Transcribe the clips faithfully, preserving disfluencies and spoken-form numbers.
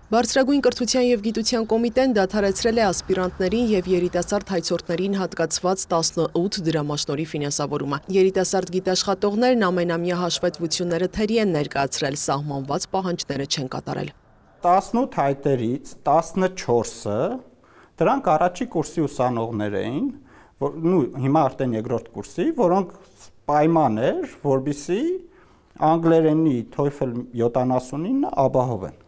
Բարձրագույն կրթության և գիտության կոմիտեն դադարեցրել է ասպիրանտներին և երիտասարդ հայցորդներին հատկացված տասնութ դրամաշնորհի ֆինանսավորումը։ Երիտասարդ գիտաշխատողներն ամենամյա հաշվետվությունները թերի են ներկայացրել, սահմանված պահանջները չեն կատարել։ տասնութ հայտերից տասնչորսը դրանք առաջի կուրսի ուսանողներ էին, հիմա արդեն երկրորդ կուրսի, որոնք պայման էր, որպեսզի անգլերենի TOEFL յոթանասունինը ապահովեն։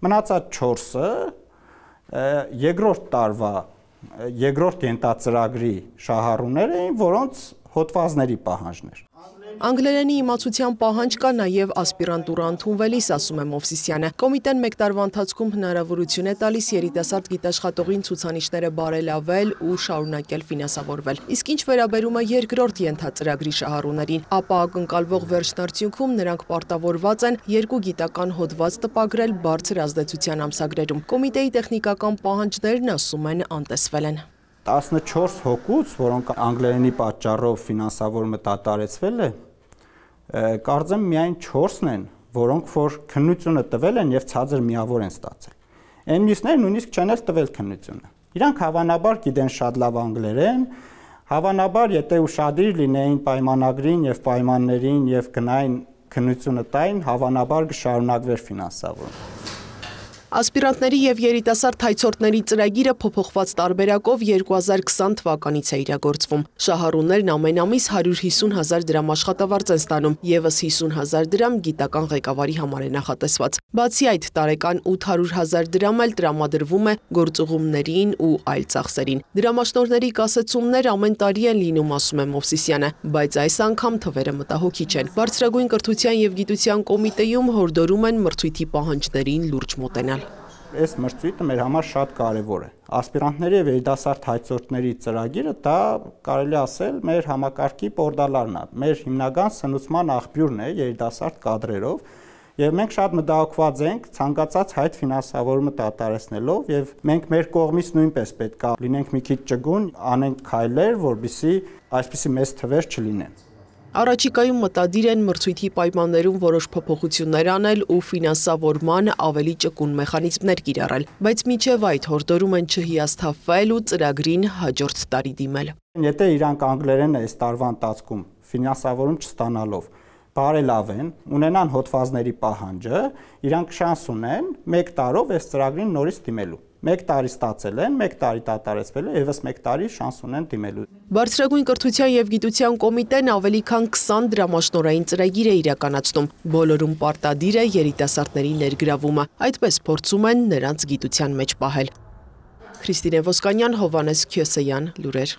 Մնացած չորսը երկրորդ տարվա երկրորդ ենթածրագրի շահառուներ էին, որոնց հոդվածների պահանջներ։ Անգլերենի իմացության պահանջ կա նաև ասպիրանտուրա ընդունվելիս, ասում է Մովսիսյանը։ Կոմիտեն մեկ տարվա ընթացքում հնարավորություն է տալիս երիտասարդ գիտաշխատողին ցուցանիշները բարելավել ու շարունակել ֆինանսավորվել։ Իսկ ինչ վերաբերում է երկրորդ ենթածրագրի շահառուներին, ապա ակնկալվող վերջնարդյունքում նրանք պարտավորված են երկու գիտական հոդված տպագրել բարձր ազդեցության ամսագրերում։ Կոմիտեի տեխնիկական պահանջներն, ասում են, անտեսվել են։ տասնչորս հոգուց, որոնք անգլերենի պատճառով ֆինանսավորումը դադարեցվել է, կարծեմ միայն չորսն են, որոնք որ քննությունը տվել են եւ ցածր միավոր են ստացել։ Այն մյուսները նույնիսկ չեն էլ տվել քննությունը։ Իրանք հավանաբար գիտեն շատ լավ անգլերեն, հավանաբար եթե ուշադիր լինեին պայմանագրին եւ պայմաններին եւ գնային քննությունը տային, հավանաբար կշարունակվեր ֆինանսավորումը։ Ասպիրանտների և երիտասարդ հայցորդների ծրագիրը փոփոխված տարբերակով երկու հազար քսան թվականից է իրագործվում։ Շահառուներն ամեն ամիս հարյուր հիսուն հազար դրամ աշխատավարձ են ստանում, ևս հիսուն հազար դրամ գիտական ղեկավարի համար է նախատեսված։ Բացի այդ, տարեկան ութ հարյուր հազար դրամ էլ տրամադրվում է գործուղումներին ու այլ ծախսերին։ Դրամաշնորհների կասեցումներ ամեն տարի են լինում, ասում է Մովսիսյանը, բայց այս անգամ թվերը մտահոգիչ են։ Բարձրագույն կրթության և գիտության կոմիտեում հորդորում են մրցույթի պահանջներին լուրջ մոտենալ։ Այս մրցույթը մեր համար շատ կարևոր է։ Ասպիրանտների և երիտասարդ հայցորդների ծրագիրը դա կարելի ասել մեր համակարգի պորտալարն է, մեր հիմնական սնուցման աղբյուրն է երիտասարդ կադրերով, եւ մենք շատ մտահոգված ենք ցանկացած հայտ ֆինանսավորումը դադարեցնելով, եւ մենք մեր կողմից նույնպես պետք է լինենք մի քիչ ճկուն, անենք քայլեր, որպեսզի այսպիսի մեծ թվեր չլինեն։ Առաջիկայում մտադիր են մրցույթի պայմաններում որոշ փոփոխություններ անել ու ֆինանսավորման ավելի ճկուն մեխանիզմներ կիրառել, բայց մինչև այդ հորդորում են չհիասթափվել ու ծրագրին հաջորդ տարի դիմել։ Եթե իրանք անգլերենը այս տարվա ընթացքում ֆինանսավորում չստանալով բարելավեն, ունենան հոդվածների պահանջը, իրանք շանս ունեն մեկ տարով այս ծրագրին նորից դիմելու։ Մեկ տարի ստացել են, մեկ տարի դադարեցվել է, եւս մեկ տարի շանս ունեն դիմելու։ Բարձրագույն կրթության և գիտության կոմիտեն ավելի քան քսան դրամաշնորհային ծրագիր է իրականացնում։ Բոլորում պարտադիր է երիտասարդների ներգրավումը, այդպես փորձում են նրանց գիտության մեջ պահել։ Քրիստինե Ոսկանյան, Հովհաննես Քյոսեյան, լուրեր։